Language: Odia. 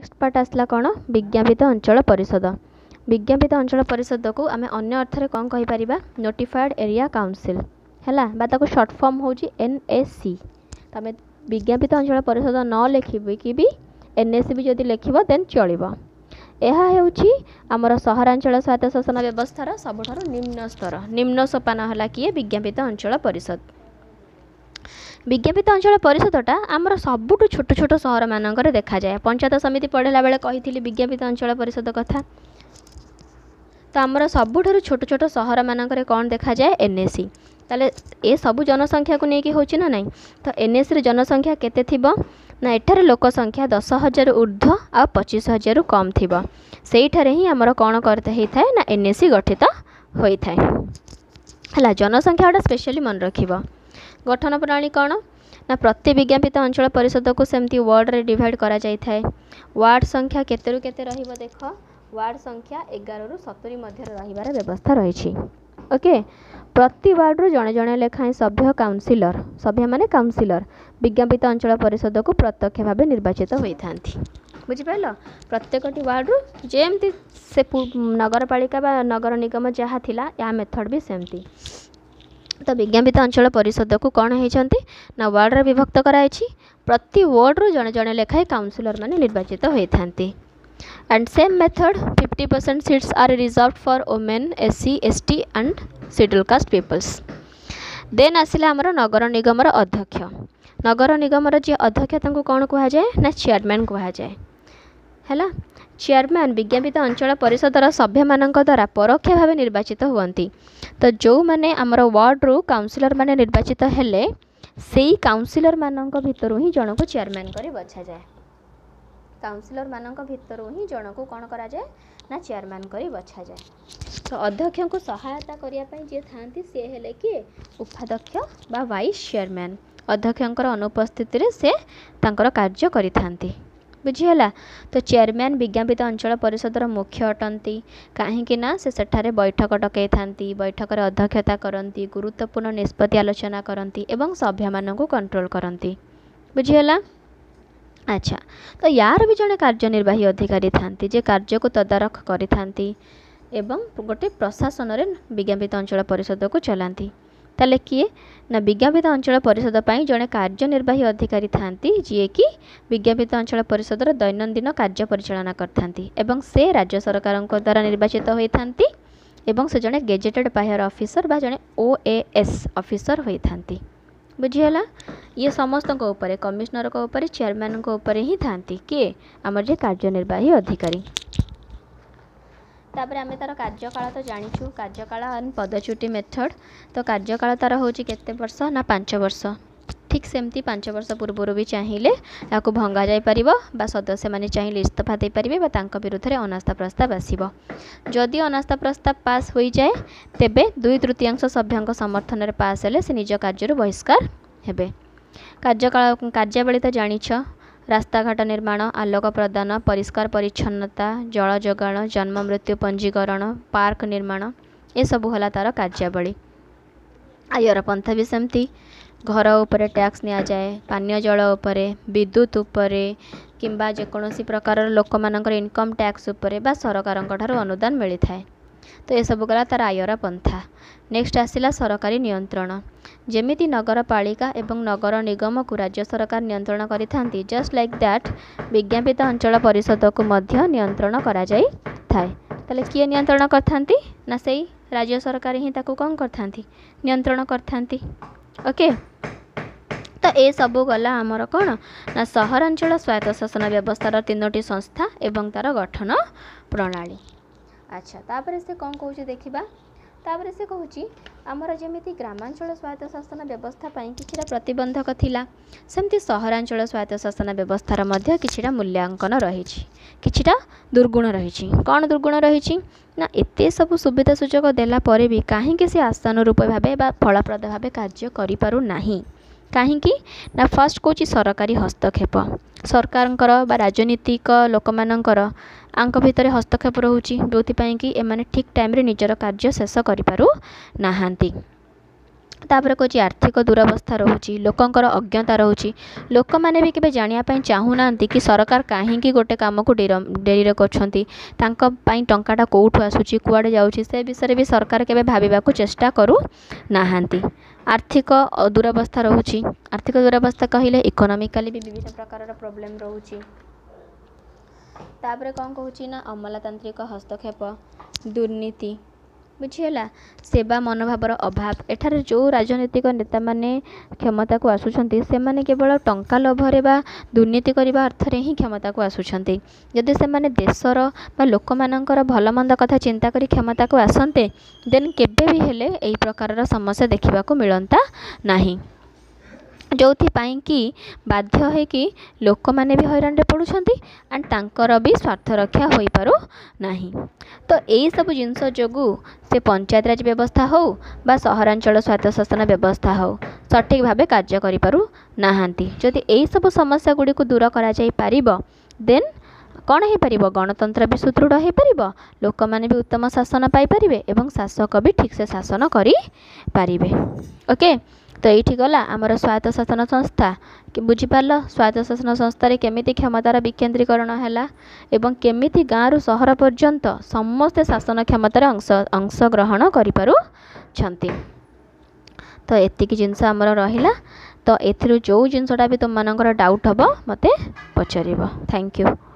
ନେକ୍ସଟ ପାର୍ଟ ଆସିଲା କ'ଣ? ବିଜ୍ଞାପିତ ଅଞ୍ଚଳ ପରିଷଦ। ବିଜ୍ଞାପିତ ଅଞ୍ଚଳ ପରିଷଦକୁ ଆମେ ଅନ୍ୟ ଅର୍ଥରେ କ'ଣ କହିପାରିବା? ନୋଟିଫାଏଡ଼୍ ଏରିଆ କାଉନସିଲ୍, ହେଲା, ବା ତାକୁ ସର୍ଟ ଫର୍ମ ହେଉଛି NAC। ତମେ ବିଜ୍ଞାପିତ ଅଞ୍ଚଳ ପରିଷଦ ନ ଲେଖିକି ବି NAC ବି ଯଦି ଲେଖିବ, ଦେନ୍ ଚଳିବ। ଏହା ହେଉଛି ଆମର ସହରାଞ୍ଚଳ ସ୍ୱାୟତ୍ତ ଶାସନ ବ୍ୟବସ୍ଥାର ସବୁଠାରୁ ନିମ୍ନ ସ୍ତର, ନିମ୍ନ ସୋପାନ ହେଲା କିଏ? ବିଜ୍ଞାପିତ ଅଞ୍ଚଳ ପରିଷଦ। ବିଜ୍ଞାପିତ ଅଞ୍ଚଳ ପରିଷଦଟା ଆମର ସବୁଠୁ ଛୋଟ ଛୋଟ ସହରମାନଙ୍କରେ ଦେଖାଯାଏ। ପଞ୍ଚାୟତ ସମିତି ପଢ଼ିଲା ବେଳେ କହିଥିଲି ବିଜ୍ଞାପିତ ଅଞ୍ଚଳ ପରିଷଦ କଥା। ତ ଆମର ସବୁଠାରୁ ଛୋଟ ଛୋଟ ସହରମାନଙ୍କରେ କ'ଣ ଦେଖାଯାଏ? NAC। ତାହେଲେ ଏସବୁ ଜନସଂଖ୍ୟାକୁ ନେଇକି ହେଉଛି ନା ନାହିଁ? ତ NACରେ ଜନସଂଖ୍ୟା କେତେ ଥିବ ନା, ଏଠାରେ ଲୋକ ସଂଖ୍ୟା 10,000 ଉର୍ଦ୍ଧ୍ୱ ଆଉ 25,000ରୁ କମ୍ ଥିବ। ସେଇଠାରେ ହିଁ ଆମର କ'ଣ ହେଇଥାଏ ନା, NAC ଗଠିତ ହୋଇଥାଏ। ହେଲା, ଜନସଂଖ୍ୟା ଗୁଡ଼ା ସ୍ପେଶିଆଲି ମନେ ରଖିବ। ଗଠନ ପ୍ରଣାଳୀ କ'ଣ ନା, ପ୍ରତି ବିଜ୍ଞାପିତ ଅଞ୍ଚଳ ପରିଷଦକୁ ସେମିତି ୱାର୍ଡ଼ରେ ଡିଭାଇଡ଼ କରାଯାଇଥାଏ। ୱାର୍ଡ଼ ସଂଖ୍ୟା କେତେରୁ କେତେ ରହିବ ଦେଖ। ୱାର୍ଡ଼ ସଂଖ୍ୟା 11ରୁ 70 ମଧ୍ୟରେ ରହିବାର ବ୍ୟବସ୍ଥା ରହିଛି। ଓକେ, ପ୍ରତି ୱାର୍ଡ଼ରୁ ଜଣେ ଜଣେ ଲେଖାଏଁ ସଭ୍ୟ କାଉନସିଲର, ସଭ୍ୟମାନେ କାଉନସିଲର ବିଜ୍ଞାପିତ ଅଞ୍ଚଳ ପରିଷଦକୁ ପ୍ରତ୍ୟକ୍ଷ ଭାବେ ନିର୍ବାଚିତ ହୋଇଥାନ୍ତି। ବୁଝିପାରିଲ? ପ୍ରତ୍ୟେକଟି ୱାର୍ଡ଼ରୁ, ଯେମିତି ସେ ନଗରପାଳିକା ବା ନଗର ନିଗମ ଯାହା ଥିଲା, ୟା ମେଥଡ଼ ବି ସେମିତି। ତ ବିଜ୍ଞାପିତ ଅଞ୍ଚଳ ପରିଷଦକୁ କ'ଣ ହେଇଛନ୍ତି ନା, ୱାର୍ଡ଼ରେ ବିଭକ୍ତ କରାଯାଇଛି। ପ୍ରତି ୱାର୍ଡ଼ରୁ ଜଣେ ଜଣେ ଲେଖାଏଁ କାଉନସିଲର ମାନେ ନିର୍ବାଚିତ ହୋଇଥାନ୍ତି। And same method, 50% seats are reserved for women, SC, ST and scheduled caste peoples. Then ଆସିଲା ଆମର ନଗର ନିଗମର ଅଧ୍ୟକ୍ଷ। ନଗର ନିଗମର ଯିଏ ଅଧ୍ୟକ୍ଷ, ତାଙ୍କୁ କ'ଣ କୁହାଯାଏ ନା, ଚେୟାରମ୍ୟାନ୍ କୁହାଯାଏ। ହେଲା, ଚେୟାରମ୍ୟାନ୍ ବିଜ୍ଞାପିତ ଅଞ୍ଚଳ ପରିଷଦର ସଭ୍ୟମାନଙ୍କ ଦ୍ୱାରା ପରୋକ୍ଷ ଭାବେ ନିର୍ବାଚିତ ହୁଅନ୍ତି। ତ ଯେଉଁମାନେ ଆମର ୱାର୍ଡ଼ରୁ କାଉନସିଲର ମାନେ ନିର୍ବାଚିତ ହେଲେ, ସେଇ କାଉନସିଲରମାନଙ୍କ ଭିତରୁ ହିଁ ଜଣକୁ ଚେୟାରମ୍ୟାନ୍ କରି ବଛାଯାଏ। କାଉନସିଲରମାନଙ୍କ ଭିତରୁ ହିଁ ଜଣକୁ କ'ଣ କରାଯାଏ ନା, ଚେୟାରମ୍ୟାନ୍ କରି ବଛାଯାଏ। ତ ଅଧ୍ୟକ୍ଷଙ୍କୁ ସହାୟତା କରିବା ପାଇଁ ଯିଏ ଥାଆନ୍ତି, ସିଏ ହେଲେ କିଏ? ଉପାଧ୍ୟକ୍ଷ ବା ଭାଇସ୍ ଚେୟାରମ୍ୟାନ୍। ଅଧ୍ୟକ୍ଷଙ୍କର ଅନୁପସ୍ଥିତିରେ ସେ ତାଙ୍କର କାର୍ଯ୍ୟ କରିଥାନ୍ତି। ବୁଝିହେଲା? ତ ଚେୟାରମ୍ୟାନ୍ ବିଜ୍ଞାପିତ ଅଞ୍ଚଳ ପରିଷଦର ମୁଖ୍ୟ ଅଟନ୍ତି, କାହିଁକି ନା ସେ ସେଠାରେ ବୈଠକ ଡକାଇଥାନ୍ତି, ବୈଠକରେ ଅଧ୍ୟକ୍ଷତା କରନ୍ତି, ଗୁରୁତ୍ୱପୂର୍ଣ୍ଣ ନିଷ୍ପତ୍ତି ଆଲୋଚନା କରନ୍ତି ଏବଂ ସଭ୍ୟମାନଙ୍କୁ କଣ୍ଟ୍ରୋଲ କରନ୍ତି। ବୁଝିହେଲା? ଆଚ୍ଛା, ତ ୟାର ବି ଜଣେ କାର୍ଯ୍ୟନିର୍ବାହୀ ଅଧିକାରୀ ଥାନ୍ତି, ଯେ କାର୍ଯ୍ୟକୁ ତଦାରଖ କରିଥାନ୍ତି ଏବଂ ଗୋଟେ ପ୍ରଶାସନରେ ବିଜ୍ଞାପିତ ଅଞ୍ଚଳ ପରିଷଦକୁ ଚଲାନ୍ତି। ତାହେଲେ କିଏ ନା, ବିଜ୍ଞାପିତ ଅଞ୍ଚଳ ପରିଷଦ ପାଇଁ ଜଣେ କାର୍ଯ୍ୟନିର୍ବାହୀ ଅଧିକାରୀ ଥାନ୍ତି, ଯିଏକି ବିଜ୍ଞାପିତ ଅଞ୍ଚଳ ପରିଷଦର ଦୈନନ୍ଦିନ କାର୍ଯ୍ୟ ପରିଚାଳନା କରିଥାନ୍ତି ଏବଂ ସେ ରାଜ୍ୟ ସରକାରଙ୍କ ଦ୍ୱାରା ନିର୍ବାଚିତ ହୋଇଥାନ୍ତି ଏବଂ ସେ ଜଣେ ଗେଜେଟେଡ଼ ପାହ୍ୟାର ଅଫିସର ବା ଜଣେ OAS officer ହୋଇଥାନ୍ତି। ବୁଝିହେଲା? ଇଏ ସମସ୍ତଙ୍କ ଉପରେ, କମିଶନରଙ୍କ ଉପରେ, ଚେୟାରମ୍ୟାନଙ୍କ ଉପରେ ହିଁ ଥାନ୍ତି। କିଏ? ଆମର ଯିଏ କାର୍ଯ୍ୟନିର୍ବାହୀ ଅଧିକାରୀ। ତାପରେ ଆମେ ତା'ର କାର୍ଯ୍ୟକାଳ ତ ଜାଣିଛୁ, କାର୍ଯ୍ୟକାଳ ଆଣ୍ଡ ପଦଚ୍ୟୁତି ମେଥଡ଼। ତ କାର୍ଯ୍ୟକାଳ ତା'ର ହେଉଛି କେତେ ବର୍ଷ ନା, 5 ବର୍ଷ। ଠିକ୍ ସେମିତି 5 ବର୍ଷ ପୂର୍ବରୁ ବି ଚାହିଁଲେ ଏହାକୁ ଭଙ୍ଗା ଯାଇପାରିବ ବା ସଦସ୍ୟମାନେ ଚାହିଁଲେ ଇସ୍ତଫା ଦେଇପାରିବେ ବା ତାଙ୍କ ବିରୁଦ୍ଧରେ ଅନାସ୍ଥା ପ୍ରସ୍ତାବ ଆସିବ। ଯଦି ଅନାସ୍ଥା ପ୍ରସ୍ତାବ ପାସ୍ ହୋଇଯାଏ, ତେବେ 2/3 ସଭ୍ୟଙ୍କ ସମର୍ଥନରେ ପାସ୍ ହେଲେ ସେ ନିଜ କାର୍ଯ୍ୟରୁ ବହିଷ୍କାର ହେବେ। କାର୍ଯ୍ୟକାଳ, କାର୍ଯ୍ୟାବଳୀ ତ ଜାଣିଛ। ରାସ୍ତାଘାଟ ନିର୍ମାଣ, ଆଲୋକ ପ୍ରଦାନ, ପରିଷ୍କାର ପରିଚ୍ଛନ୍ନତା, ଜଳ ଯୋଗାଣ, ଜନ୍ମ ମୃତ୍ୟୁ ପଞ୍ଜୀକରଣ, ପାର୍କ ନିର୍ମାଣ, ଏସବୁ ହେଲା ତା'ର କାର୍ଯ୍ୟାବଳୀ। ଆୟର ପନ୍ଥା ବି ସେମିତି, ଘର ଉପରେ ଟ୍ୟାକ୍ସ ନିଆଯାଏ, ପାନୀୟ ଜଳ ଉପରେ, ବିଦ୍ୟୁତ ଉପରେ କିମ୍ବା ଯେକୌଣସି ପ୍ରକାରର ଲୋକମାନଙ୍କର ଇନକମ୍ ଟ୍ୟାକ୍ସ ଉପରେ ବା ସରକାରଙ୍କ ଠାରୁ ଅନୁଦାନ ମିଳିଥାଏ। ତ ଏସବୁ ଗଲା ତା'ର ଆୟର ପନ୍ଥା। ନେକ୍ସଟ ଆସିଲା ସରକାରୀ ନିୟନ୍ତ୍ରଣ। ଯେମିତି ନଗରପାଳିକା ଏବଂ ନଗର ନିଗମକୁ ରାଜ୍ୟ ସରକାର ନିୟନ୍ତ୍ରଣ କରିଥାନ୍ତି, ଜଷ୍ଟ ଲାଇକ୍ that ବିଜ୍ଞାପିତ ଅଞ୍ଚଳ ପରିଷଦକୁ ମଧ୍ୟ ନିୟନ୍ତ୍ରଣ କରାଯାଇଥାଏ। ତାହେଲେ କିଏ ନିୟନ୍ତ୍ରଣ କରିଥାନ୍ତି ନା, ସେଇ ରାଜ୍ୟ ସରକାର ହିଁ ତାକୁ କ'ଣ କରିଥାନ୍ତି? ନିୟନ୍ତ୍ରଣ କରିଥାନ୍ତି। ଓକେ, ତ ଏସବୁ ଗଲା ଆମର କ'ଣ ନା, ସହରାଞ୍ଚଳ ସ୍ୱାୟତ୍ତ ଶାସନ ବ୍ୟବସ୍ଥାର ତିନୋଟି ସଂସ୍ଥା ଏବଂ ତା'ର ଗଠନ ପ୍ରଣାଳୀ। ଆଚ୍ଛା, ତାପରେ ସେ କ'ଣ କହୁଛି ଦେଖିବା। ତାପରେ ସେ କହୁଛି, ଆମର ଯେମିତି ଗ୍ରାମାଞ୍ଚଳ ସ୍ୱାୟତ୍ତ ଶାସନ ବ୍ୟବସ୍ଥା ପାଇଁ କିଛିଟା ପ୍ରତିବନ୍ଧକ ଥିଲା, ସେମିତି ସହରାଞ୍ଚଳ ସ୍ୱାୟତ୍ତ ଶାସନ ବ୍ୟବସ୍ଥାର ମଧ୍ୟ କିଛିଟା ମୂଲ୍ୟାଙ୍କନ ରହିଛି, କିଛିଟା ଦୁର୍ଗୁଣ ରହିଛି। କ'ଣ ଦୁର୍ଗୁଣ ରହିଛି ନା, ଏତେ ସବୁ ସୁବିଧା ସୁଯୋଗ ଦେଲା ପରେ ବି କାହିଁକି ସେ ଆଶାନୁରୂପ ଭାବେ ବା ଫଳପ୍ରଦ ଭାବେ କାର୍ଯ୍ୟ କରିପାରୁନାହିଁ? କାହିଁକି ନା, ଫାର୍ଷ୍ଟ କହୁଛି ସରକାରୀ ହସ୍ତକ୍ଷେପ। ସରକାରଙ୍କର ବା ରାଜନୀତିକ ଲୋକମାନଙ୍କର ୟାଙ୍କ ଭିତରେ ହସ୍ତକ୍ଷେପ ରହୁଛି, ଯେଉଁଥିପାଇଁ କି ଏମାନେ ଠିକ୍ ଟାଇମ୍ରେ ନିଜର କାର୍ଯ୍ୟ ଶେଷ କରିପାରୁନାହାନ୍ତି। ତାପରେ କହୁଛି ଆର୍ଥିକ ଦୁରବସ୍ଥା ରହୁଛି, ଲୋକଙ୍କର ଅଜ୍ଞତା ରହୁଛି। ଲୋକମାନେ ବି କେବେ ଜାଣିବା ପାଇଁ ଚାହୁଁନାହାନ୍ତି କି ସରକାର କାହିଁକି ଗୋଟେ କାମକୁ ଡେରିରେ କରୁଛନ୍ତି, ତାଙ୍କ ପାଇଁ ଟଙ୍କାଟା କେଉଁଠୁ ଆସୁଛି, କୁଆଡ଼େ ଯାଉଛି, ସେ ବିଷୟରେ ବି ସରକାର କେବେ ଭାବିବାକୁ ଚେଷ୍ଟା କରୁନାହାନ୍ତି। ଆର୍ଥିକ ଦୁରବସ୍ଥା ରହୁଛି। ଆର୍ଥିକ ଦୁରବସ୍ଥା କହିଲେ ଇକୋନୋମିକାଲି ବି ବିଭିନ୍ନ ପ୍ରକାରର ପ୍ରୋବ୍ଲେମ୍ ରହୁଛି। ତାପରେ କ'ଣ କହୁଛି ନା ଅମଲାତାନ୍ତ୍ରିକ ହସ୍ତକ୍ଷେପ, ଦୁର୍ନୀତି, ବୁଝିହେଲା, ସେବା ମନୋଭାବର ଅଭାବ। ଏଠାରେ ଯେଉଁ ରାଜନୈତିକ ନେତାମାନେ କ୍ଷମତାକୁ ଆସୁଛନ୍ତି, ସେମାନେ କେବଳ ଟଙ୍କା ଲୋଭରେ ବା ଦୁର୍ନୀତି କରିବା ଅର୍ଥରେ ହିଁ କ୍ଷମତାକୁ ଆସୁଛନ୍ତି। ଯଦି ସେମାନେ ଦେଶର ବା ଲୋକମାନଙ୍କର ଭଲମନ୍ଦ କଥା ଚିନ୍ତା କରି କ୍ଷମତାକୁ ଆସନ୍ତେ, ଦେନ୍ କେବେ ବି ହେଲେ ଏହି ପ୍ରକାରର ସମସ୍ୟା ଦେଖିବାକୁ ମିଳନ୍ତା ନାହିଁ, ଯେଉଁଥିପାଇଁ କି ବାଧ୍ୟ ହେଇକି ଲୋକମାନେ ବି ହଇରାଣରେ ପଡ଼ୁଛନ୍ତି ଆଣ୍ଡ ତାଙ୍କର ବି ସ୍ୱାର୍ଥ ରକ୍ଷା ହୋଇପାରୁନାହିଁ। ତ ଏଇସବୁ ଜିନିଷ ଯୋଗୁଁ ସେ ପଞ୍ଚାୟତରାଜ ବ୍ୟବସ୍ଥା ହେଉ ବା ସହରାଞ୍ଚଳ ସ୍ୱାୟତ୍ତଶାସନ ବ୍ୟବସ୍ଥା ହେଉ, ସଠିକ୍ ଭାବେ କାର୍ଯ୍ୟ କରିପାରୁନାହାନ୍ତି। ଯଦି ଏଇସବୁ ସମସ୍ୟା ଗୁଡ଼ିକୁ ଦୂର କରାଯାଇପାରିବ, ଦେନ୍ କ'ଣ ହେଇପାରିବ? ଗଣତନ୍ତ୍ର ବି ସୁଦୃଢ଼ ହେଇପାରିବ, ଲୋକମାନେ ବି ଉତ୍ତମ ଶାସନ ପାଇପାରିବେ ଏବଂ ଶାସକ ବି ଠିକ୍ସେ ଶାସନ କରିପାରିବେ। ଓକେ, ତ ଏଇଠି ଗଲା ଆମର ସ୍ୱାୟତ୍ତ ଶାସନ ସଂସ୍ଥା। ବୁଝିପାରିଲ ସ୍ୱାୟତ୍ତ ଶାସନ ସଂସ୍ଥାରେ କେମିତି କ୍ଷମତାର ବିକେନ୍ଦ୍ରୀକରଣ ହେଲା ଏବଂ କେମିତି ଗାଁରୁ ସହର ପର୍ଯ୍ୟନ୍ତ ସମସ୍ତେ ଶାସନ କ୍ଷମତାରେ ଅଂଶଗ୍ରହଣ କରିପାରୁଛନ୍ତି? ତ ଏତିକି ଜିନିଷ ଆମର ରହିଲା। ତ ଏଥିରୁ ଯେଉଁ ଜିନିଷଟା ବି ତୁମମାନଙ୍କର ଡାଉଟ୍ ହେବ, ମୋତେ ପଚାରିବ। Thank you.